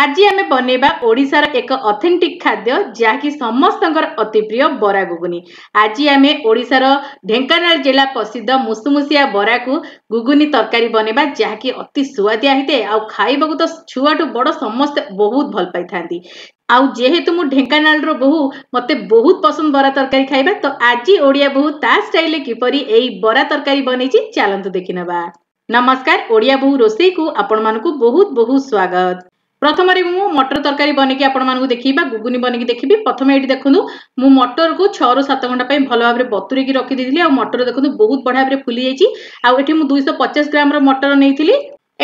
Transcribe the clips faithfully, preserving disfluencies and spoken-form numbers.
ଆଜି ଆମେ ବନେଇବା ଓଡ଼ିଶାର ଏକ ଅଥେଣ୍ଟିକ୍ ଖାଦ୍ୟ, ଯାହାକି ସମସ୍ତଙ୍କର ଅତି ପ୍ରିୟ ବରା ଗୁଗୁନି। ଆଜି ଆମେ ଓଡ଼ିଶାର ଢେଙ୍କାନାଳ ଜିଲ୍ଲା ପ୍ରସିଦ୍ଧ ମୁସୁମୁସିଆ ବରାକୁ ଗୁଗୁନି ତରକାରୀ ବନେଇବା, ଯାହାକି ଅତି ସୁଆଦିଆ ହେଇଥାଏ ଆଉ ଖାଇବାକୁ ତ ଛୁଆଠୁ ବଡ଼ ସମସ୍ତେ ବହୁତ ଭଲ ପାଇଥାନ୍ତି। ଆଉ ଯେହେତୁ ମୁଁ ଢେଙ୍କାନାଳର ବୋହୂ, ମତେ ବହୁତ ପସନ୍ଦ ବରା ତରକାରୀ ଖାଇବା। ତ ଆଜି ଓଡ଼ିଆ ବୋହୂ ତା ଷ୍ଟାଇଲରେ କିପରି ଏଇ ବରା ତରକାରୀ ବନେଇଛି, ଚାଲନ୍ତୁ ଦେଖିନେବା। ନମସ୍କାର, ଓଡ଼ିଆ ବୋହୂ ରୋଷେଇକୁ ଆପଣମାନଙ୍କୁ ବହୁତ ବହୁତ ସ୍ୱାଗତ। ପ୍ରଥମରେ ମୁଁ ମଟର ତରକାରୀ ବନେଇକି ଆପଣମାନଙ୍କୁ ଦେଖିବି ବା ଗୁଗୁନି ବନେଇକି ଦେଖିବି। ପ୍ରଥମେ ଏଇଠି ଦେଖନ୍ତୁ, ମୁଁ ମଟରକୁ ଛଅରୁ ସାତ ଘଣ୍ଟା ପାଇଁ ଭଲ ଭାବରେ ବତୁରେଇକି ରଖିଦେଇଥିଲି ଆଉ ମଟର ଦେଖନ୍ତୁ ବହୁତ ବଢିଆ ଭାବରେ ଫୁଲି ଯାଇଛି। ଆଉ ଏଠି ମୁଁ ଦୁଇଶହ ପଚାଶ ଗ୍ରାମର ମଟର ନେଇଥିଲି।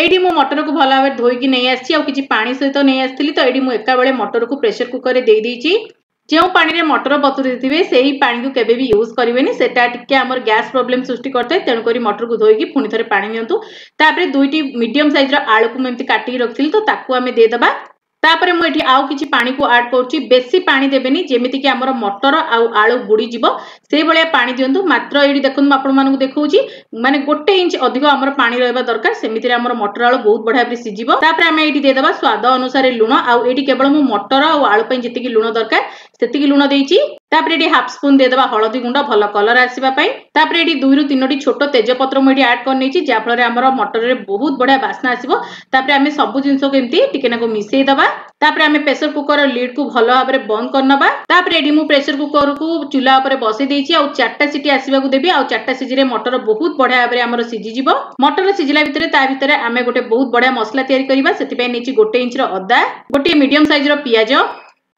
ଏଇଠି ମୁଁ ମଟରକୁ ଭଲ ଭାବରେ ଧୋଇକି ନେଇ ଆସିଛି ଆଉ କିଛି ପାଣି ସହିତ ନେଇ ଆସିଥିଲି। ତ ଏଇଠି ମୁଁ ଏକାବେଳେ ମଟରକୁ ପ୍ରେସର କୁକରରେ ଦେଇଦେଇଛି। ଯେଉଁ ପାଣିରେ ମଟର ବତୁରେଇଥିବେ, ସେଇ ପାଣିକୁ କେବେ ବି ୟୁଜ୍ କରିବେନି, ସେଟା ଟିକେ ଆମର ଗ୍ୟାସ୍ ପ୍ରୋବ୍ଲେମ ସୃଷ୍ଟି କରିଥାଏ। ତେଣୁକରି ମଟରକୁ ଧୋଇକି ପୁଣି ଥରେ ପାଣି ନିଅନ୍ତୁ। ତାପରେ ଦୁଇଟି ମିଡିୟମ ସାଇଜର ଆଳୁକୁ ମୁଁ ଏମିତି କାଟିକି ରଖିଥିଲି, ତ ତାକୁ ଆମେ ଦେଇଦେବା। ତାପରେ ମୁଁ ଏଠି ଆଉ କିଛି ପାଣିକୁ ଆଡ୍ କରୁଛି। ବେଶୀ ପାଣି ଦେବେନି, ଯେମିତିକି ଆମର ମଟର ଆଉ ଆଳୁ ବୁଡ଼ିଯିବ ସେଇଭଳିଆ ପାଣି ଦିଅନ୍ତୁ। ମାତ୍ର ଏଇଠି ଦେଖନ୍ତୁ, ମୁଁ ଆପଣମାନଙ୍କୁ ଦେଖାଉଛି, ମାନେ ଗୋଟେ ଇଞ୍ଚ ଅଧିକ ଆମର ପାଣି ରହିବା ଦରକାର। ସେମିତିରେ ଆମର ମଟର ଆଳୁ ବହୁତ ବଢିଆ ଭାବରେ ସିଝିବ। ତାପରେ ଆମେ ଏଇଠି ଦେଇଦେବା ସ୍ୱାଦ ଅନୁସାରେ ଲୁଣ। ଆଉ ଏଇଠି କେବଳ ମୁଁ ମଟର ଆଉ ଆଳୁ ପାଇଁ ଯେତିକି ଲୁଣ ଦରକାର ସେତିକି ଲୁଣ ଦେଇଛି। ତାପରେ ଏଠି ହାଫ ସ୍ପୁନ ଦେଇଦେବା ହଳଦୀ ଗୁଣ୍ଡ, ଭଲ କଲର ଆସିବା ପାଇଁ। ତାପରେ ଏଠି ଦୁଇରୁ ତିନୋଟି ଛୋଟ ତେଜପତ୍ର ମୁଁ ଏଠି ଆଡ୍ କରିନେଇଛି, ଯାହାଫଳରେ ଆମର ମଟରରେ ବହୁତ ବଢିଆ ବାସ୍ନା ଆସିବ। ତାପରେ ଆମେ ସବୁ ଜିନିଷକୁ ଏମିତି ଟିକେ ନାକୁ ମିଶେଇ ଦବା। ତାପରେ ଆମେ ପ୍ରେସର କୁକର ଲିଡ୍ କୁ ଭଲ ଭାବରେ ବନ୍ଦ କରିନବା। ତାପରେ ଏଠି ମୁଁ ପ୍ରେସର କୁକରକୁ ଚୁଲା ଉପରେ ବସେଇ ଦେଇଛି ଆଉ ଚାରିଟା ସିଟି ଆସିବାକୁ ଦେବି। ଆଉ ଚାରିଟା ସିଟିରେ ମଟର ବହୁତ ବଢିଆ ଭାବରେ ଆମର ସିଝିଯିବ। ମଟର ସିଝିଲା ଭିତରେ ତା ଭିତରେ ଆମେ ଗୋଟେ ବହୁତ ବଢିଆ ମସଲା ତିଆରି କରିବା। ସେଥିପାଇଁ ନେଇଛି ଗୋଟେ ଇଞ୍ଚର ଅଦା, ଗୋଟିଏ ମିଡିୟମ ସାଇଜର ପିଆଜ,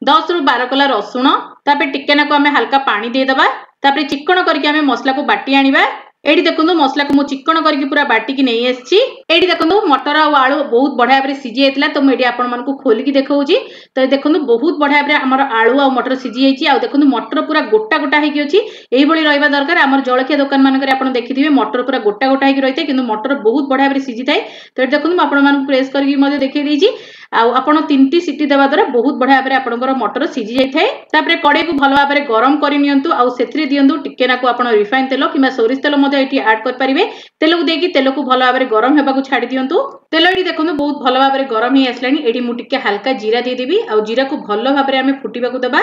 ଦଶରୁ ବାର କଲା ରସୁଣ। ତାପରେ ଟିକେ ନାକୁ ଆମେ ହାଲକା ପାଣି ଦେଇଦେବା। ତାପରେ ଚିକଣ କରିକି ଆମେ ମସଲାକୁ ବାଟି ଆଣିବା। ଏଇଠି ଦେଖନ୍ତୁ, ମସଲାକୁ ମୁଁ ଚିକଣ କରିକି ପୁରା ବାଟିକି ନେଇ ଆସିଛି। ଏଇଠି ଦେଖନ୍ତୁ, ମଟର ଆଉ ଆଳୁ ବହୁତ ବଢିଆ ଭାବରେ ସିଝି ଯାଇଥିଲା। ତ ମୁଁ ଏଠି ଆପଣମାନଙ୍କୁ ଖୋଲିକି ଦେଖାଉଛି। ତ ଦେଖନ୍ତୁ, ବହୁତ ବଢିଆ ଭାବରେ ଆମର ଆଳୁ ଆଉ ମଟର ସିଝି ଯାଇଛି। ଆଉ ଦେଖନ୍ତୁ, ମଟର ପୁରା ଗୋଟା ଗୋଟା ହେଇକି ଅଛି। ଏଇଭଳି ରହିବା ଦରକାର। ଆମର ଜଳଖିଆ ଦୋକାନ ମାନଙ୍କରେ ଆପଣ ଦେଖିଥିବେ, ମଟର ପୁରା ଗୋଟା ଗୋଟା ହେଇକି ରହିଥାଏ, କିନ୍ତୁ ମଟର ବହୁତ ବଢିଆ ଭାବରେ ସିଝିଥାଏ। ତ ଏଠି ଦେଖନ୍ତୁ, ମୁଁ ଆପଣମାନଙ୍କୁ ପ୍ରେସ୍ କରିକି ମଧ୍ୟ ଦେଖେଇ ଦେଇଛି। ଆଉ ଆପଣ ତିନିଟି ସିଟି ଦେବା ଦ୍ୱାରା ବହୁତ ବଢିଆ ଭାବରେ ଆପଣଙ୍କର ମଟର ସିଝି ଯାଇଥାଏ। ତାପରେ କଡ଼େଇକୁ ଭଲ ଭାବରେ ଗରମ କରି ନିଅନ୍ତୁ ଆଉ ସେଥିରେ ଦିଅନ୍ତୁ ଟିକେ ନାକୁ ଆପଣ ରିଫାଇନ ତେଲ କିମ୍ବା ସୋରିଷ ତେଲ ମଧ୍ୟ ଏଠି ଆଡ୍ କରିପାରିବେ। ତେଲକୁ ଦେଇକି ତେଲକୁ ଭଲ ଭାବରେ ଗରମ ହେବାକୁ ଛାଡି ଦିଅନ୍ତୁ। ତେଲ ଏଠି ଦେଖନ୍ତୁ ବହୁତ ଭଲ ଭାବରେ ଗରମ ହେଇ ଆସିଲାଣି। ଏଠି ମୁଁ ଟିକେ ହାଲକା ଜିରା ଦେଇଦେବି ଆଉ ଜିରାକୁ ଭଲ ଭାବରେ ଆମେ ଫୁଟିବାକୁ ଦେବା।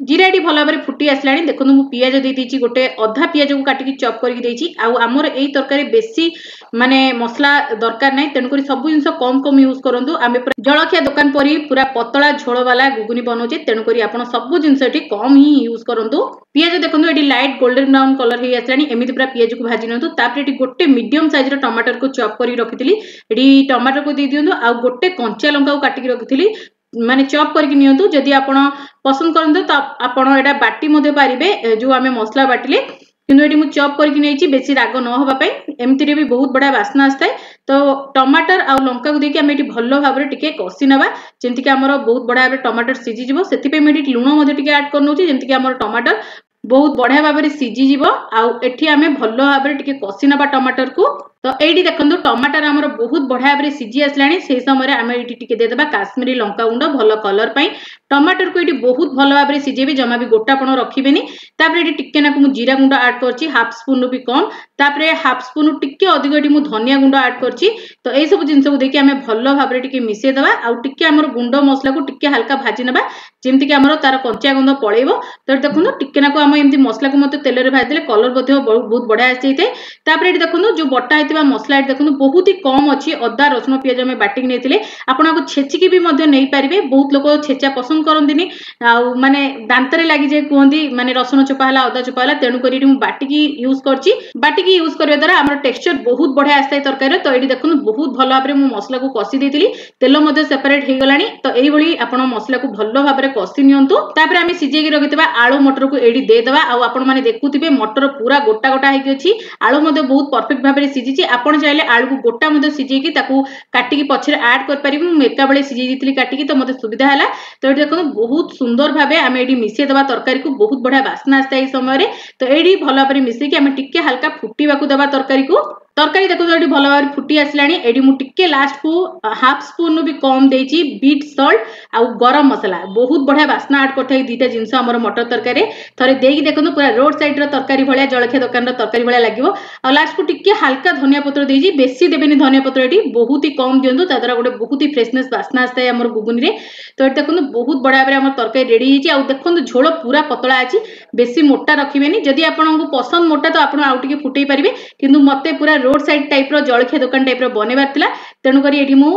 ଜିରା ଏଠି ଭଲ ଭାବରେ ଫୁଟି ଆସିଲାଣି। ଦେଖନ୍ତୁ, ମୁଁ ପିଆଜ ଦେଇଦେଇଛି, ଗୋଟେ ଅଧା ପିଆଜକୁ କାଟିକି ଚପ୍ କରିକି ଦେଇଛି। ଆଉ ଆମର ଏଇ ତରକାରୀ ବେଶୀ ମାନେ ମସଲା ଦରକାର ନାହିଁ, ତେଣୁକରି ସବୁ ଜିନିଷ କମ କମ ୟୁଜ୍ କରନ୍ତୁ। ଆମେ ପୁରା ଜଳଖିଆ ଦୋକାନ ପରି ପୁରା ପତଳା ଝୋଳ ବାଲା ଗୁଗୁନି ବନଉଛେ, ତେଣୁକରି ଆପଣ ସବୁ ଜିନିଷ ଏଠି କମ ହିଁ ୟୁଜ୍ କରନ୍ତୁ। ପିଆଜ ଦେଖନ୍ତୁ, ଏଠି ଲାଇଟ୍ ଗୋଲ୍ଡେନ ବ୍ରାଉନ କଲର ହେଇ ଆସିଲାଣି। ଏମିତି ପୁରା ପିଆଜକୁ ଭାଜି ନିଅନ୍ତୁ। ତାପରେ ଏଠି ଗୋଟେ ମିଡିୟମ ସାଇଜର ଟମାଟରକୁ ଚପ୍ କରିକି ରଖିଥିଲି, ଏଠି ଟମାଟରକୁ ଦେଇ ଦିଅନ୍ତୁ। ଆଉ ଗୋଟେ କଞ୍ଚା ଲଙ୍କାକୁ କାଟିକି ରଖିଥିଲି, ମାନେ ଚପ୍ କରିକି ନିଅନ୍ତୁ। ଯଦି ଆପଣ ପସନ୍ଦ କରନ୍ତୁ ତ ଆପଣ ଏଇଟା ବାଟି ମଧ୍ୟ ପାରିବେ, ଯୋଉ ଆମେ ମସଲା ବାଟିଲେ। କିନ୍ତୁ ଏଠି ମୁଁ ଚପ୍ କରିକି ନେଇଛି ବେଶୀ ରାଗ ନ ହବା ପାଇଁ। ଏମିତିରେ ବି ବହୁତ ବଢିଆ ବାସ୍ନା ଆସିଥାଏ। ତ ଟମାଟର ଆଉ ଲଙ୍କାକୁ ଦେଇକି ଆମେ ଏଠି ଭଲ ଭାବରେ ଟିକେ କଷି ନେବା, ଯେମିତିକି ଆମର ବହୁତ ବଢିଆ ଭାବରେ ଟମାଟର ସିଝିଯିବ। ସେଥିପାଇଁ ମୁଁ ଏଠି ଲୁଣ ମଧ୍ୟ ଟିକେ ଆଡ୍ କରିନେଉଛି, ଯେମିତିକି ଆମର ଟମାଟର ବହୁତ ବଢିଆ ଭାବରେ ସିଝିଯିବ। ଆଉ ଏଠି ଆମେ ଭଲ ଭାବରେ ଟିକେ କଷି ନେବା ଟମାଟରକୁ। ତ ଏଇଠି ଦେଖନ୍ତୁ, ଟମାଟର ଆମର ବହୁତ ବଢିଆ ଭାବରେ ସିଝି ଆସିଲାଣି। ସେଇ ସମୟରେ ଆମେ ଏଇଠି ଟିକେ ଦେଇଦେବା କାଶ୍ମୀରୀ ଲଙ୍କା ଗୁଣ୍ଡ ଭଲ କଲର ପାଇଁ। ଟମାଟରକୁ ଏଇଠି ବହୁତ ଭଲ ଭାବରେ ସିଝେଇବେ, ଜମା ବି ଗୋଟାପଣ ରଖିବେନି। ତାପରେ ଏଠି ଟିକେ ନାକୁ ମୁଁ ଜିରା ଗୁଣ୍ଡ ଆଡ୍ କରିଛି, ହାଫ ସ୍ପୁନ ବି କମ। ତାପରେ ହାଫ ସ୍ପୁନ ଟିକେ ଅଧିକ ଏଠି ମୁଁ ଧନିଆ ଗୁଣ୍ଡ ଆଡ୍ କରିଛି। ତ ଏଇ ସବୁ ଜିନିଷକୁ ଦେଇକି ଆମେ ଭଲ ଭାବରେ ଟିକେ ମିଶେଇ ଦେବା ଆଉ ଟିକେ ଆମର ଗୁଣ୍ଡ ମସଲାକୁ ଟିକେ ହାଲକା ଭାଜି ନେବା, ଯେମିତିକି ଆମର ତାର କଞ୍ଚା ଗନ୍ଧ ପଳେଇବ। ତ ଏଠି ଦେଖନ୍ତୁ, ଟିକେ ନାକୁ ଆମେ ଏମିତି ମସଲାକୁ ମଧ୍ୟ ତେଲରେ ଭାଜିଦେଲେ କଲର ମଧ୍ୟ ବହୁତ ବଢିଆ ଆସିଯାଇଥାଏ। ତାପରେ ଏଠି ଦେଖନ୍ତୁ, ଯୋଉ ବଟା ହେଇଥିବା ମସଲା ଏଠି ଦେଖନ୍ତୁ ବହୁତ ହି କମ ଅଛି। ଅଦା, ରସୁଣ, ପିଆଜ ଆମେ ବାଟିକି ନେଇଥିଲେ। ଆପଣ ଆକୁ ଛେଚିକି ବି ମଧ୍ୟ ନେଇପାରିବେ। ବହୁତ ଲୋକ ଛେଚା ପସନ୍ଦ କରନ୍ତିନି ଆଉ ମାନେ ଦାନ୍ତରେ ଲାଗିଯାଏ କୁହନ୍ତି, ମାନେ ରସୁଣ ଚୋପା ହେଲା, ଅଦା ଚୋପା ହେଲା। ତେଣୁକରି ଏଠି ମୁଁ ବାଟିକି ୟୁଜ କରିଛି। ବାଟିକି ୟୁଜ କରିବା ଦ୍ୱାରା ଆମର ଟେକ୍ସଚର ବହୁତ ବଢିଆ ଆସିଥାଏ ତରକାରୀରେ। ତ ଏଠି ଦେଖନ୍ତୁ, ବହୁତ ଭଲ ଭାବରେ ମୁଁ ମସଲାକୁ କଷି ଦେଇଥିଲି, ତେଲ ମଧ୍ୟ ସେପାରେଟ ହେଇଗଲାଣି। ତ ଏଇଭଳି ଆପଣ ମସଲାକୁ ଭଲ ଭାବରେ କଷି ନିଅନ୍ତୁ। ତାପରେ ଆମେ ସିଝେଇକି ରଖିଥିବା ଆଳୁ ମଟରକୁ ଏଇଠି ଦେଇଦେବା। ଆଉ ଆପଣ ମାନେ ଦେଖୁଥିବେ, ମଟର ପୁରା ଗୋଟା ଗୋଟା ହେଇକି ଅଛି, ଆଳୁ ମଧ୍ୟ ବହୁତ ପରଫେକ୍ଟ ଭାବରେ ସିଝିଛି। ଆପଣ ଚାହିଁଲେ ଆଳୁକୁ ଗୋଟା ମଧ୍ୟ ସିଝେଇକି ତାକୁ କାଟିକି ପଛରେ ଆଡ୍ କରିପାରିବେ। ମୁଁ ଏକାବେଳେ ସିଝେଇ ଦେଇଥିଲି କାଟିକି, ତ ମତେ ସୁବିଧା ହେଲା। ତ ଏଠି ଦେଖନ୍ତୁ, ବହୁତ ସୁନ୍ଦର ଭାବେ ଆମେ ଏଠି ମିଶେଇ ଦେବା ତରକାରୀକୁ। ବହୁତ ବଢିଆ ବାସ୍ନା ଆସିଥାଏ ଏଇ ସମୟରେ। ତ ଏଇଠି ଭଲ ଭାବରେ ମିଶେଇକି ଆମେ ଟିକେ ହାଲକା ଫୁଟିବାକୁ ଦେବା ତରକାରୀକୁ। ତରକାରୀ ଦେଖନ୍ତୁ ଏଠି ଭଲ ଭାବରେ ଫୁଟି ଆସିଲାଣି। ଏଠି ମୁଁ ଟିକେ ଲାଷ୍ଟକୁ ହାଫ୍ ସ୍ପୁନ୍ରୁ ବି କମ୍ ଦେଇଛି ବିଟ୍ ସଲ୍ଟ ଆଉ ଗରମ ମସଲା। ବହୁତ ବଢ଼ିଆ ବାସ୍ନା ଆଡ୍ କରିଥାଏ ଦୁଇଟା ଜିନିଷ ଆମର ମଟର ତରକାରୀରେ। ଥରେ ଦେଇକି ଦେଖନ୍ତୁ, ପୁରା ରୋଡ ସାଇଡ୍ର ତରକାରୀ ଭଳିଆ, ଜଳଖିଆ ଦୋକାନର ତରକାରୀ ଭଳିଆ ଲାଗିବ। ଆଉ ଲାଷ୍ଟକୁ ଟିକେ ହାଲକା ଧନିଆ ପତ୍ର ଦେଇଛି। ବେଶୀ ଦେବେନି ଧନିଆ ପତ୍ର, ଏଠି ବହୁତ ହି କମ୍ ଦିଅନ୍ତୁ। ତା ଦ୍ୱାରା ଗୋଟେ ବହୁତ ହି ଫ୍ରେଶନେସ୍ ବାସ୍ନା ଆସିଥାଏ ଆମର ଗୁଗୁନିରେ। ତ ଏଠି ଦେଖନ୍ତୁ, ବହୁତ ବଢ଼ିଆ ଭାବରେ ଆମର ତରକାରୀ ରେଡି ହେଇଛି। ଆଉ ଦେଖନ୍ତୁ, ଝୋଳ ପୁରା ପତଳା ଅଛି, ବେଶୀ ମୋଟା ରଖିବେନି। ଯଦି ଆପଣଙ୍କୁ ପସନ୍ଦ ମୋଟା, ତ ଆପଣ ଆଉ ଟିକେ ଫୁଟେଇ ପାରିବେ, କିନ୍ତୁ ମତେ ପୁରା ରୋଡ ସାଇଡ୍ ଟାଇପ୍ର, ଜଳଖିଆ ଦୋକାନ ଟାଇପ୍ର ବନେଇବାର ଥିଲା, ତେଣୁକରି ଏଠି ମୁଁ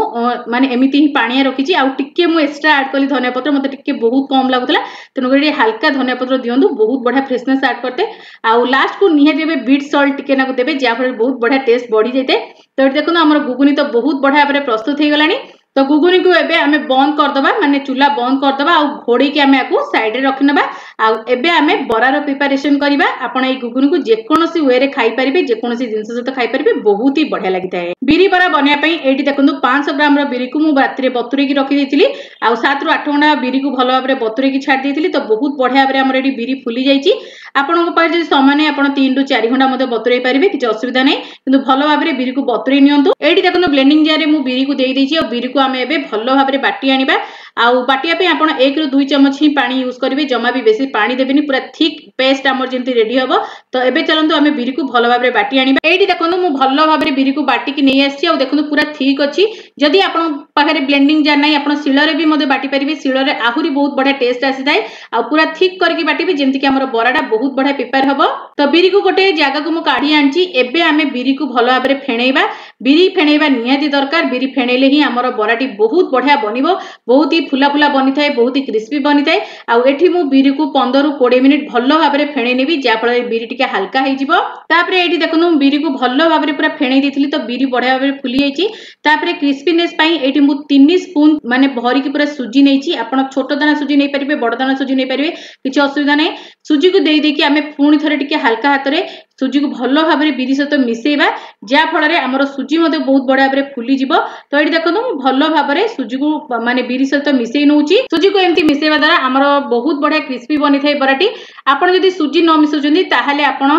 ମାନେ ଏମିତି ହିଁ ପାଣିଆ ରଖିଛି। ଆଉ ଟିକେ ମୁଁ ଏକ୍ସଟ୍ରା ଆଡ୍ କଲି ଧନିଆ ପତ୍ର, ମତେ ଟିକେ ବହୁତ କମ୍ ଲାଗୁଥିଲା, ତେଣୁକରି ଟିକେ ହାଲକା ଧନିଆ ପତ୍ର ଦିଅନ୍ତୁ, ବହୁତ ବଢ଼ିଆ ଫ୍ରେଶନେସ୍ ଆଡ୍ କରିଥାଏ। ଆଉ ଲାଷ୍ଟକୁ ନିହାତି ଏବେ ବିଟ୍ ସଲ୍ଟ ଟିକେ ନାକୁ ଦେବେ, ଯାହାଫଳରେ ବହୁତ ବଢ଼ିଆ ଟେଷ୍ଟ ବଢି ଯାଇଥାଏ। ତ ଏଠି ଦେଖନ୍ତୁ, ଆମର ଗୁଗୁନି ତ ବହୁତ ବଢ଼ିଆ ଭାବରେ ପ୍ରସ୍ତୁତ ହେଇଗଲାଣି। ତ ଗୁଗୁନିକୁ ଏବେ ଆମେ ବନ୍ଦ କରିଦେବା, ମାନେ ଚୁଲା ବନ୍ଦ କରିଦେବା ଆଉ ଘୋଡ଼େଇକି ଆମେ ଆକୁ ସାଇଡ୍ରେ ରଖିନେବା। ଆଉ ଏବେ ଆମେ ବରାର ପ୍ରିପାରେସନ କରିବା। ଆପଣ ଏଇ ଗୁଗୁନିକୁ ଯେକୌଣସି ୱେରେ ଖାଇପାରିବେ, ଯେକୌଣସି ଜିନିଷ ସହିତ ଖାଇପାରିବେ, ବହୁତ ହି ବଢିଆ ଲାଗିଥାଏ। ବିରି ବରା ବନେଇବା ପାଇଁ ଏଇଠି ଦେଖନ୍ତୁ, ପାଞ୍ଚଶହ ଗ୍ରାମର ବିରିକୁ ମୁଁ ରାତିରେ ବତୁରେଇକି ରଖିଦେଇଥିଲି। ଆଉ ସାତରୁ ଆଠ ଘଣ୍ଟା ବିରିକୁ ଭଲ ଭାବରେ ବତୁରେଇକି ଛାଡ଼ି ଦେଇଥିଲି। ତ ବହୁତ ବଢିଆ ଭାବରେ ଆମର ଏଠି ବିରି ଫୁଲି ଯାଇଛି। ଆପଣଙ୍କ ପାଖରେ ଯଦି ସମୟ ନାହିଁ, ଆପଣ ତିନିରୁ ଚାରି ଘଣ୍ଟା ମଧ୍ୟ ବତୁରେଇ ପାରିବେ, କିଛି ଅସୁବିଧା ନାହିଁ, କିନ୍ତୁ ଭଲ ଭାବରେ ବିରିକୁ ବତୁରେଇ ନିଅନ୍ତୁ। ଏଇଠି ଦେଖନ୍ତୁ, ବ୍ଲେଣ୍ଡିଂ ଜାରରେ ମୁଁ ବିରିକୁ ଦେଇ ଦେଇଛି। ଆଉ ବିରିକୁ ଆମେ ଏବେ ଭଲ ଭାବରେ ବାଟି ଆଣିବା। ଆଉ ବାଟିବା ପାଇଁ ଆପଣ ଏକରୁ ଦୁଇ ଚାମଚ ହିଁ ପାଣି ୟୁଜ୍ କରିବେ, ଜମା ବି ବେଶୀ ପାଣି ଦେବେନି। ପୁରା ଥିକ୍ ପେଷ୍ଟ ଆମର ଯେମିତି ରେଡି ହବ। ତ ଏବେ ଚାଲନ୍ତୁ, ଆମେ ବିରିକୁ ଭଲ ଭାବରେ ବାଟି ଆଣିବା। ଏଇଠି ଦେଖନ୍ତୁ, ମୁଁ ଭଲ ଭାବରେ ବିରିକୁ ବାଟିକି ନେଇ ଆସିଛି। ଆଉ ଦେଖନ୍ତୁ, ପୁରା ଥିକ୍ ଅଛି। ଯଦି ଆପଣଙ୍କ ପାଖରେ ବ୍ଲେଣ୍ଡିଂ ଜାର୍ ନାହିଁ, ଆପଣ ଶିଳରେ ବି ମଧ୍ୟ ବାଟି ପାରିବେ। ଶିଳରେ ଆହୁରି ବହୁତ ବଢିଆ ଟେଷ୍ଟ ଆସିଥାଏ। ଆଉ ପୁରା ଥିକ୍ କରିକି ବାଟିବେ, ଯେମିତିକି ଆମର ବରାଟା ବହୁତ ବଢିଆ ପ୍ରିପେୟାର ହବ। ତ ବିରିକୁ ଗୋଟେ ଜାଗାକୁ ମୁଁ କାଢି ଆଣିଛି। ଏବେ ଆମେ ବିରିକୁ ଭଲ ଭାବରେ ଫେଣେଇବା। ବିରି ଫେଣେଇବା ନିହାତି ଦରକାର। ବିରି ଫେଣେଇଲେ ହିଁ ଆମର ବରାଟି ବହୁତ ବଢିଆ ବନିବ, ବହୁତ ହି ଫୁଲା ଫୁଲା ବନିଥାଏ, ବହୁତ ହି କ୍ରିସ୍ପି ବନିଥାଏ। ଆଉ ଏଠି ମୁଁ ବିରିକୁ ପନ୍ଦରରୁ କୋଡ଼ିଏ ମିନିଟ୍ ଭଲ ଭାବରେ ଫେଣେଇ ନେବି, ଯାହାଫଳରେ ବିରି ଟିକେ ହାଲକା ହେଇଯିବ। ତାପରେ ଏଇଠି ଦେଖନ୍ତୁ, ମୁଁ ବିରିକୁ ଭଲ ଭାବରେ ପୁରା ଫେଣେଇ ଦେଇଥିଲି, ତ ବିରି ବଢିଆ ଭାବରେ ଫୁଲି ଯାଇଛି। ତାପରେ କ୍ରିସ୍ପିନେସ୍ ପାଇଁ ଏଇଠି ମୁଁ ତିନି ସ୍ପୁନ୍ ମାନେ ଭରିକି ପୁରା ସୁଜି ନେଇଛି। ଆପଣ ଛୋଟ ଦାନା ସୁଜି ନେଇପାରିବେ, ବଡ ଦାନା ସୁଜି ନେଇପାରିବେ, କିଛି ଅସୁବିଧା ନାହିଁ। ସୁଜିକୁ ଦେଇ ଦେଇକି ଆମେ ପୁଣି ଥରେ ଟିକେ ହାଲକା ହାତରେ ସୁଜିକୁ ଭଲ ଭାବରେ ବିରି ସହିତ ମିଶେଇବା, ଯାହା ଫଳରେ ଆମର ସୁଜି ମଧ୍ୟ ବହୁତ ବଢିଆ ଭାବରେ ଫୁଲିଯିବ। ତ ଏଇଠି ଦେଖନ୍ତୁ, ମୁଁ ଭଲ ଭାବରେ ସୁଜିକୁ ମାନେ ବିରି ସହିତ ମିଶେଇ ନଉଛି। ସୁଜିକୁ ଏମିତି ମିଶେଇବା ଦ୍ୱାରା ଆମର ବହୁତ ବଢିଆ କ୍ରିସ୍ପି ବନିଥାଏ ବରାଟି। ଆପଣ ଯଦି ସୁଜି ନ ମିଶାଉଛନ୍ତି, ତାହେଲେ ଆପଣ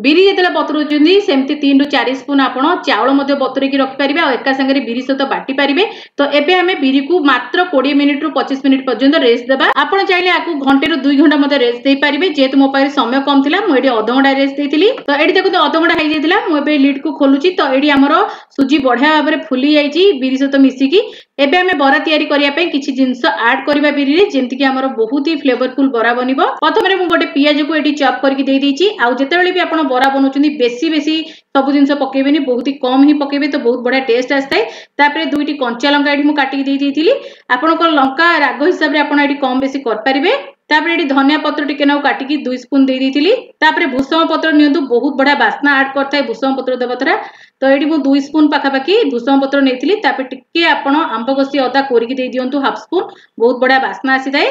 ବିରି ଯେତେବେଳେ ବତୁରଉଛନ୍ତି, ସେମିତି ତିନିରୁ ଚାରି ସ୍ପୁନ୍ ଆପଣ ଚାଉଳ ମଧ୍ୟ ବତୁରେଇକି ରଖିପାରିବେ ଆଉ ଏକା ସାଙ୍ଗରେ ବିରି ସହିତ ବାଟି ପାରିବେ। ତ ଏବେ ଆମେ ବିରିକୁ ମାତ୍ର କୋଡ଼ିଏ ମିନିଟରୁ ପଚିଶ ମିନିଟ୍ ପର୍ଯ୍ୟନ୍ତ ରେଷ୍ଟ ଦେବା। ଆପଣ ଚାହିଁଲେ ଆକୁ ଘଣ୍ଟେରୁ ଦୁଇ ଘଣ୍ଟା ମଧ୍ୟ ରେଷ୍ଟ ଦେଇପାରିବେ। ଯେହେତୁ ମୋ ପାଖରେ ସମୟ କମ ଥିଲା, ମୁଁ ଏଠି ଅଧଘଣ୍ଟା ରେଷ୍ଟ ଦେଇଥିଲି। ତ ଏଠି ଦେଖନ୍ତୁ, ଅଧଘଣ୍ଟା ହେଇଯାଇଥିଲା। ମୁଁ ଏବେ ଲିଡ୍କୁ ଖୋଲୁଛି। ତ ଏଠି ଆମର ସୁଜି ବଢିଆ ଭାବରେ ଫୁଲି ଯାଇଛି ବିରି ସହିତ ମିଶିକି। ଏବେ ଆମେ ବରା ତିଆରି କରିବା ପାଇଁ କିଛି ଜିନିଷ ଆଡ୍ କରିବା ବିରିରେ, ଯେମିତିକି ଆମର ବହୁତ ହି ଫ୍ଲେଭରଫୁଲ ବରା ବନିବ। ପ୍ରଥମରେ ମୁଁ ଗୋଟେ ପିଆଜକୁ ଏଠି ଚପ୍ କରିକି ଦେଇ ଦେଇଛି। ଆଉ ଯେତେବେଳେ ବି ଆପଣ ବରା ବନଉଛନ୍ତି, ବେଶୀ ବେଶୀ ସବୁ ଜିନିଷ ପକେଇବେନି, ବହୁତ ହି କମ ହିଁ ପକେଇବେ, ତ ବହୁତ ବଢିଆ ଟେଷ୍ଟ ଆସିଥାଏ। ତାପରେ ଦୁଇଟି କଞ୍ଚା ଲଙ୍କା ଏଠି ମୁଁ କାଟିକି ଦେଇ ଦେଇଥିଲି। ଆପଣଙ୍କ ଲଙ୍କା ରାଗ ହିସାବରେ ଆପଣ ଏଠି କମ ବେଶୀ କରିପାରିବେ। ତାପରେ ଏଠି ଧନିଆ ପତ୍ର ଟିକେ ନାକୁ କାଟିକି ଦୁଇ ସ୍ପୁନ୍ ଦେଇ ଦେଇଥିଲି। ତାପରେ ଭୃଷଙ୍ଗ ପତ୍ର ନିଅନ୍ତୁ, ବହୁତ ବଢିଆ ବାସ୍ନା ଆଡ୍ କରିଥାଏ ଭୃଷଙ୍ଗ ପତ୍ର ଦେବା ଦ୍ୱାରା। ତ ଏଇଠି ମୁଁ ଦୁଇ ସ୍ପୁନ୍ ପାଖାପାଖି ଭୃଷଙ୍ଗ ପତ୍ର ନେଇଥିଲି। ତାପରେ ଟିକେ ଆପଣ ଆମ୍ବ କଷି ଅଦା କୋରିକି ଦେଇ ଦିଅନ୍ତୁ ହାଫ୍ ସ୍ପୁନ୍, ବହୁତ ବଢିଆ ବାସ୍ନା ଆସିଥାଏ।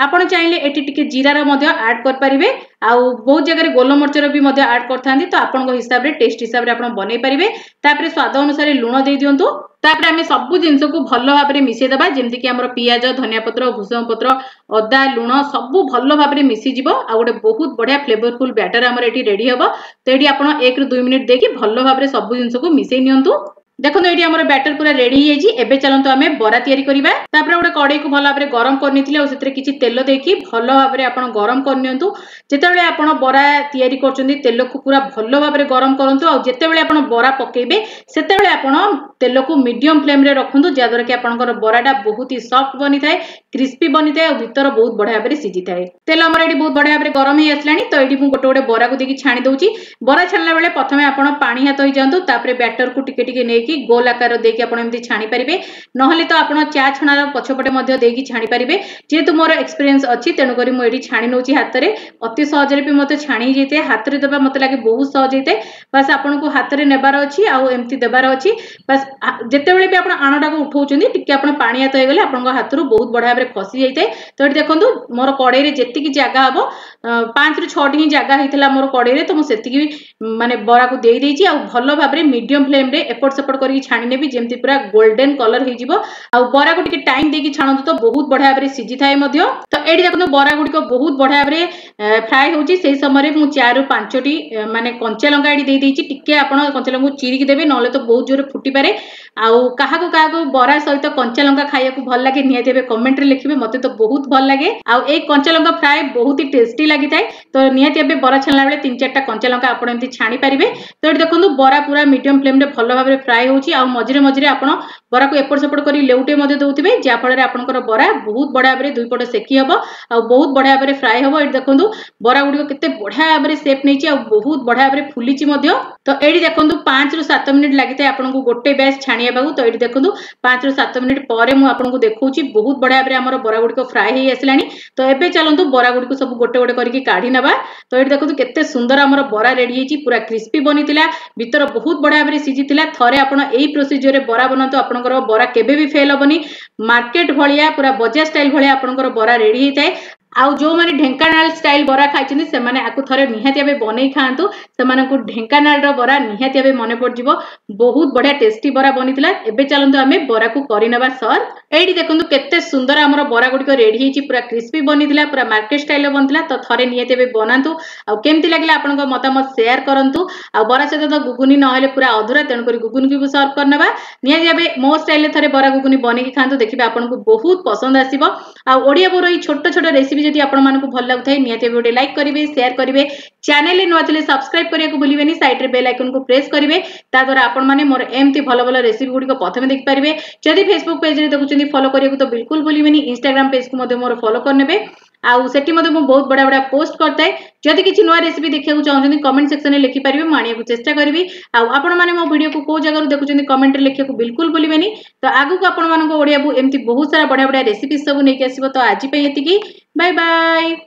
ଆପଣ ଚାହିଁଲେ ଏଠି ଟିକେ ଜିରାର ମଧ୍ୟ ଆଡ୍ କରିପାରିବେ। ଆଉ ବହୁତ ଜାଗାରେ ଗୋଲମରିଚର ବି ମଧ୍ୟ ଆଡ୍ କରିଥାନ୍ତି। ତ ଆପଣଙ୍କ ହିସାବରେ, ଟେଷ୍ଟ ହିସାବରେ ଆପଣ ବନେଇ ପାରିବେ। ତାପରେ ସ୍ୱାଦ ଅନୁସାରେ ଲୁଣ ଦେଇ ଦିଅନ୍ତୁ। ତାପରେ ଆମେ ସବୁ ଜିନିଷକୁ ଭଲ ଭାବରେ ମିଶେଇ ଦେବା, ଯେମିତିକି ଆମର ପିଆଜ, ଧନିଆ ପତ୍ର, ଭୃଷଙ୍ଗ ପତ୍ର, ଅଦା, ଲୁଣ ସବୁ ଭଲ ଭାବରେ ମିଶିଯିବ ଆଉ ଗୋଟେ ବହୁତ ବଢିଆ ଫ୍ଲେଭରଫୁଲ ବ୍ୟାଟର ଆମର ଏଠି ରେଡି ହବ। ତ ଏଠି ଆପଣ ଏକରୁ ଦୁଇ ମିନିଟ୍ ଦେଇକି ଭଲ ଭାବରେ ସବୁ ଜିନିଷକୁ ମିଶେଇ ନିଅନ୍ତୁ। ଦେଖନ୍ତୁ, ଏଇଠି ଆମର ବ୍ୟାଟର ପୁରା ରେଡି ହେଇଯାଇଛି। ଏବେ ଚାଲନ୍ତୁ, ଆମେ ବରା ତିଆରି କରିବା। ତାପରେ ଗୋଟେ କଡେଇକୁ ଭଲ ଭାବରେ ଗରମ କରିନେଇଥିଲି ଆଉ ସେଥିରେ କିଛି ତେଲ ଦେଇକି ଭଲ ଭାବରେ ଆପଣ ଗରମ କରିନିଅନ୍ତୁ। ଯେତେବେଳେ ଆପଣ ବରା ତିଆରି କରୁଛନ୍ତି, ତେଲକୁ ପୁରା ଭଲ ଭାବରେ ଗରମ କରନ୍ତୁ। ଆଉ ଯେତେବେଳେ ଆପଣ ବରା ପକେଇବେ, ସେତେବେଳେ ଆପଣ ତେଲକୁ ମିଡିୟମ ଫ୍ଲେମରେ ରଖନ୍ତୁ, ଯାହାଦ୍ୱାରା କି ଆପଣଙ୍କର ବରାଟା ବହୁତ ହି ସଫ୍ଟ ବନିଥାଏ, କ୍ରିସ୍ପି ବନିଥାଏ ଆଉ ଭିତର ବହୁତ ବଢିଆ ଭାବରେ ସିଝିଥାଏ। ତେଲ ଆମର ଏଠି ବହୁତ ବଢିଆ ଭାବରେ ଗରମ ହେଇ ଆସିଲାଣି। ତ ଏଇଠି ମୁଁ ଗୋଟେ ଗୋଟେ ବରାକୁ ଦେଇକି ଛାଣି ଦଉଛି। ବରା ଛାଣିଲା ବେଳେ ପ୍ରଥମେ ଆପଣ ପାଣି ହାତ ହେଇଯାଆନ୍ତୁ। ତାପରେ ବ୍ୟାଟରକୁ ଟିକେ ଟିକେ ନେଇକି ଗୋଲ ଆକାର ଦେଇକି ଆପଣ ଏମିତି ଛାଣି ପାରିବେ, ନହେଲେ ତ ଆପଣ ଚା ଛଣାର ପଛପଟେ ମଧ୍ୟ ଦେଇକି ଛାଣି ପାରିବେ। ଯେହେତୁ ମୋର ଏକ୍ସପିରିଏନ୍ସ ଅଛି, ତେଣୁକରି ମୁଁ ଏଠି ଛାଣି ନେଉଛି ହାତରେ। ଅତି ସହଜରେ ବି ମୋତେ ଛାଣି ହେଇଯାଇଥାଏ। ହାତରେ ଦେବା ମୋତେ ଲାଗେ ବହୁତ ସହଜ ହେଇଥାଏ। ବାସ୍, ଆପଣଙ୍କୁ ହାତରେ ନେବାର ଅଛି ଆଉ ଏମିତି ଦେବାର ଅଛି। ବାସ୍, ଯେତେବେଳେ ବି ଆପଣ ଆଣଟାକୁ ଉଠାଉଛନ୍ତି ଟିକେ ଆପଣ ପାଣି ହାତ ହେଇଗଲେ ଆପଣଙ୍କ ହାତରୁ ବହୁତ ବଢ଼ିଆ ଭାବରେ ଖସି ଯାଇଥାଏ। ତ ଏଠି ଦେଖନ୍ତୁ ମୋର କଡ଼େଇରେ ଯେତିକି ଜାଗା ହବ, ପାଞ୍ଚରୁ ଛଅଟି ହିଁ ଜାଗା ହେଇଥିଲା ମୋର କଡ଼େଇରେ, ତ ମୁଁ ସେତିକି ମାନେ ବରାକୁ ଦେଇ ଦେଇଛି। ଆଉ ଭଲ ଭାବରେ ମିଡିୟମ ଫ୍ଲେମ୍ରେ ଏପଟ ସେପଟ କରିକି ଛାଣି ନେବି, ଯେମିତି ପୁରା ଗୋଲ୍ଡେନ କଲର ହେଇଯିବ। ଆଉ ବରାକୁ ଟିକେ ଟାଇମ୍ ଦେଇକି ଛାଣନ୍ତୁ ତ ବହୁତ ବଢ଼ିଆ ଭାବରେ ସିଝିଥାଏ ମଧ୍ୟ। ତ ଏଇଠି ଦେଖନ୍ତୁ ବରା ଗୁଡ଼ିକ ବହୁତ ବଢ଼ିଆ ଭାବରେ ଫ୍ରାଏ ହେଉଛି। ସେଇ ସମୟରେ ମୁଁ ଚାରିରୁ ପାଞ୍ଚଟି ମାନେ କଞ୍ଚା ଲଙ୍କା ଏଠି ଦେଇ ଦେଇଛି। ଟିକେ ଆପଣ କଞ୍ଚା ଲଙ୍କାକୁ ଚିରିକି ଦେବେ, ନହେଲେ ତ ବହୁତ ଜୋରେ ଫୁଟିପାରେ। ଆଉ କାହାକୁ କାହାକୁ ବରା ସହିତ କଞ୍ଚା ଲଙ୍କା ଖାଇବାକୁ ଭଲ ଲାଗେ ନିହାତି ଭାବେ କମେଣ୍ଟରେ ଲେଖିବେ। ମତେ ତ ବହୁତ ଭଲ ଲାଗେ, ଆଉ ଏଇ କଞ୍ଚା ଲଙ୍କା ଫ୍ରାଏ ବହୁତ ହି ଟେଷ୍ଟି ଲାଗିଥାଏ। ତ ନିହାତି ଭାବେ ବରା ଛାଣିଲା ବେଳେ ତିନି ଚାରିଟା କଞ୍ଚା ଲଙ୍କା ଆପଣ ଏମିତି ଛାଣି ପାରିବେ। ତ ଏଠି ଦେଖନ୍ତୁ ବରା ପୁରା ମିଡିୟମ ଫ୍ଲେମ୍ରେ ଭଲ ଭାବରେ ଫ୍ରାଏ ହେଉଛି। ଆଉ ମଝିରେ ମଝିରେ ଆପଣ ବରାକୁ ଏପଟ ସେପଟ କରି ଲେଉଟେ ମଧ୍ୟ ଦେଉଥିବେ, ଯାହାଫଳରେ ଆପଣଙ୍କର ବରା ବହୁତ ବଢ଼ିଆ ଭାବରେ ଦୁଇ ପଟ ସେକି ହବ ଆଉ ବହୁତ ବଢ଼ିଆ ଭାବରେ ଫ୍ରାଏ ହବ। ଏଠି ଦେଖନ୍ତୁ ବରା ଗୁଡ଼ିକ କେତେ ବଢ଼ିଆ ଭାବରେ ସେପ୍ ନେଇଛି ଆଉ ବହୁତ ବଢ଼ିଆ ଭାବରେ ଫୁଲିଛି ମଧ୍ୟ। ତ ଏଇଠି ଦେଖନ୍ତୁ ପାଞ୍ଚରୁ ସାତ ମିନିଟ୍ ଲାଗିଥାଏ ଆପଣଙ୍କୁ ଗୋଟେ ବ୍ୟାଚ୍ ଛାଣିବାକୁ। ତ ଏଇଠି ଦେଖନ୍ତୁ ପାଞ୍ଚରୁ ସାତ ମିନିଟ୍ ପରେ ମୁଁ ଆପଣଙ୍କୁ ଦେଖଉଛି ବହୁତ ବଢ଼ିଆ ଭାବରେ ଆମର ବରା ଗୁଡ଼ିକ ଫ୍ରାଏ ହେଇ ଆସିଲାଣି। ତ ଏବେ ଚାଲନ୍ତୁ ବରା ଗୁଡ଼ିକୁ ସବୁ ଗୋଟେ ଗୋଟେ କରିକି କାଢି ନେବା। ତ ଏଇଠି ଦେଖନ୍ତୁ କେତେ ସୁନ୍ଦର ଆମର ବରା ରେଡି ହେଇଛି, ପୁରା କ୍ରିସ୍ପି ବନିଥିଲା, ଭିତର ବହୁତ ବଢ଼ିଆ ଭାବରେ ସିଝିଥିଲା। ଥରେ ଆପଣ ଏଇ ପ୍ରୋସିଜିଓରରେ ବରା ବନାନ୍ତୁ, ଆପଣଙ୍କର ବରା କେବେ ବି ଫେଲ୍ ହବନି। ମାର୍କେଟ ଭଳିଆ ପୁରା ବଜାର ଷ୍ଟାଇଲ ଭଳିଆ ଆପଣଙ୍କର ବରା ରେଡି ହେଇଥାଏ। ଆଉ ଯେଉଁମାନେ ଢେଙ୍କାନାଳ ଷ୍ଟାଇଲ ବରା ଖାଇଛନ୍ତି ସେମାନେ ଆକୁ ଥରେ ନିହାତି ଭାବେ ବନେଇ ଖାଆନ୍ତୁ, ସେମାନଙ୍କୁ ଢେଙ୍କାନାଳର ବରା ନିହାତି ଭାବେ ମନେ ପଡ଼ିଯିବ। ବହୁତ ବଢ଼ିଆ ଟେଷ୍ଟି ବରା ବନିଥିଲା। ଏବେ ଚାଲନ୍ତୁ ଆମେ ବରାକୁ କରିନେବା ସର୍ଭ। ଏଇଠି ଦେଖନ୍ତୁ କେତେ ସୁନ୍ଦର ଆମର ବରା ଗୁଡ଼ିକ ରେଡି ହେଇଛି, ପୁରା କ୍ରିସ୍ପି ବନିଥିଲା, ପୁରା ମାର୍କେଟ ଷ୍ଟାଇଲର ବନିଥିଲା। ତ ଥରେ ନିହାତି ଭାବେ ବନାନ୍ତୁ, ଆଉ କେମିତି ଲାଗିଲା ଆପଣଙ୍କ ମତାମତ ସେୟାର କରନ୍ତୁ। ଆଉ ବରା ସହିତ ତ ଗୁଗୁନି ନହେଲେ ପୁରା ଅଧୁରା, ତେଣୁକରି ଗୁଗୁନିକୁ ବି ସର୍ଭ କରିନେବା। ନିହାତି ଭାବେ ମୋ ଷ୍ଟାଇଲରେ ଥରେ ବରା ଗୁଗୁନି ବନେଇକି ଖାଆନ୍ତୁ, ଦେଖିବେ ଆପଣଙ୍କୁ ବହୁତ ପସନ୍ଦ ଆସିବ। ଆଉ ଓଡ଼ିଆ ବୋଉର ଏଇ ଛୋଟ ଛୋଟ ରେସିପି ଯଦି ଆପଣମାନଙ୍କୁ ଭଲ ଲାଗୁଥାଏ ନିହାତି ଭାବେ ଗୋଟେ ଲାଇକ୍ କରିବେ, ସେୟାର କରିବେ। ଚ୍ୟାନେଲରେ ନୂଆ ଥିଲେ ସବସ୍କ୍ରାଇବ କରିବାକୁ ଭୁଲିବେନି, ସାଇଡ୍ରେ ବେଲ୍ ଆଇକନକୁ ପ୍ରେସ୍ କରିବେ, ତା ଦ୍ୱାରା ଆପଣମାନେ ମୋର ଏମିତି ଭଲ ଭଲ ରେସିପି ଗୁଡ଼ିକ ପ୍ରଥମେ ଦେଖିପାରିବେ। ଯଦି ଫେସବୁକ୍ ପେଜରେ ଦେଖୁଛନ୍ତି ଫଲୋ କରିବାକୁ ତ ବିଲକୁଲ ଭୁଲିବେନି। ଇନଷ୍ଟାଗ୍ରାମ ପେଜକୁ ମଧ୍ୟ ମୋର ଫଲୋ କରିନେବେ, ଆଉ ସେଠି ମଧ୍ୟ ମୁଁ ବହୁତ ବଢ଼ିଆ ବଢ଼ିଆ ପୋଷ୍ଟ କରିଥାଏ। ଯଦି କିଛି ନୂଆ ରେସିପି ଦେଖିବାକୁ ଚାହୁଁଛନ୍ତି କମେଣ୍ଟ ସେକ୍ସନରେ ଲେଖିପାରିବେ, ମୁଁ ଆଣିବାକୁ ଚେଷ୍ଟା କରିବି। ଆଉ ଆପଣମାନେ ମୋ ଭିଡ଼ିଓକୁ କୋଉ ଜାଗାରୁ ଦେଖୁଛନ୍ତି କମେଣ୍ଟରେ ଲେଖିବାକୁ ବିଲକୁଲ ଭୁଲିବେନି। ତ ଆଗକୁ ଆପଣମାନଙ୍କ ଓଡ଼ିଆ ବୋଉ ଏମିତି ବହୁତ ସାରା ବଢ଼ିଆ ବଢ଼ିଆ ରେସିପି ସବୁ ନେଇକି ଆସିବ। ତ ଆଜି ପାଇଁ ଏତିକି, ବାଏ ବାଏ।